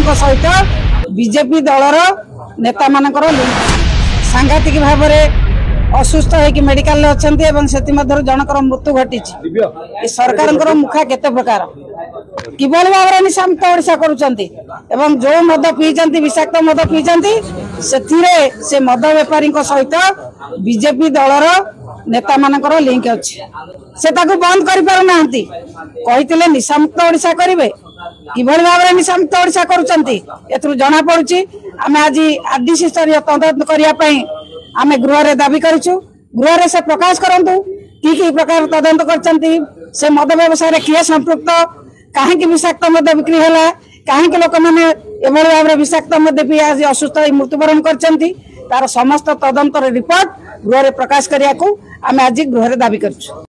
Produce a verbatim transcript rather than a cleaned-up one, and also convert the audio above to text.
ବେପାରୀଙ୍କ ସହିତ ବିଜେପି ଦଳର ନେତାମାନଙ୍କର ଲିଙ୍କ। ସାଂଘାତିକ ଭାବରେ ଅସୁସ୍ଥ ହେଇକି ମେଡିକାଲରେ ଅଛନ୍ତି ଏବଂ ସେଥିମଧ୍ୟରୁ ଜଣଙ୍କର ମୃତ୍ୟୁ ଘଟିଛି। ଏ ସରକାରଙ୍କର ମୁଖା କେତେ ପ୍ରକାର, କିଭଳି ଭାବରେ ନିଶାମୁକ୍ତ ଓଡ଼ିଶା କରୁଛନ୍ତି ଏବଂ ଯୋଉ ମଦ ପିଇଛନ୍ତି, ବିଷାକ୍ତ ମଦ ପିଇଛନ୍ତି, ସେଥିରେ ସେ ମଦ ବେପାରୀଙ୍କ ସହିତ ବିଜେପି ଦଳର ନେତାମାନଙ୍କର ଲିଙ୍କ ଅଛି। ସେ ତାକୁ ବନ୍ଦ କରିପାରୁନାହାନ୍ତି। କହିଥିଲେ ନିଶାମୁକ୍ତ ଓଡ଼ିଶା କରିବେ, କିଭଳି ଭାବରେ ନିଶାମୁକ୍ତ ଓଡ଼ିଶା କରୁଛନ୍ତି ଏଥିରୁ ଜଣା ପଡୁଛି। ଆମେ ଆଜି ଆରଡିସି ସ୍ତରୀୟ ତଦନ୍ତ କରିବା ପାଇଁ ଆମେ ଗୃହରେ ଦାବି କରିଛୁ। ଗୃହରେ ସେ ପ୍ରକାଶ କରନ୍ତୁ କି କି ପ୍ରକାର ତଦନ୍ତ କରିଛନ୍ତି, ସେ ମଦ ବ୍ୟବସାୟରେ କିଏ ସମ୍ପୃକ୍ତ, କାହିଁକି ବିଷାକ୍ତ ମଦ ବିକ୍ରି ହେଲା, କାହିଁକି ଲୋକମାନେ ଏଭଳି ଭାବରେ ବିଷାକ୍ତ ମଦ ପିଇ ଆଜି ଅସୁସ୍ଥ ହୋଇ ମୃତ୍ୟୁବରଣ କରିଛନ୍ତି, ତାର ସମସ୍ତ ତଦନ୍ତର ରିପୋର୍ଟ ଗୃହରେ ପ୍ରକାଶ କରିବାକୁ ଆମେ ଆଜି ଗୃହରେ ଦାବି କରିଛୁ।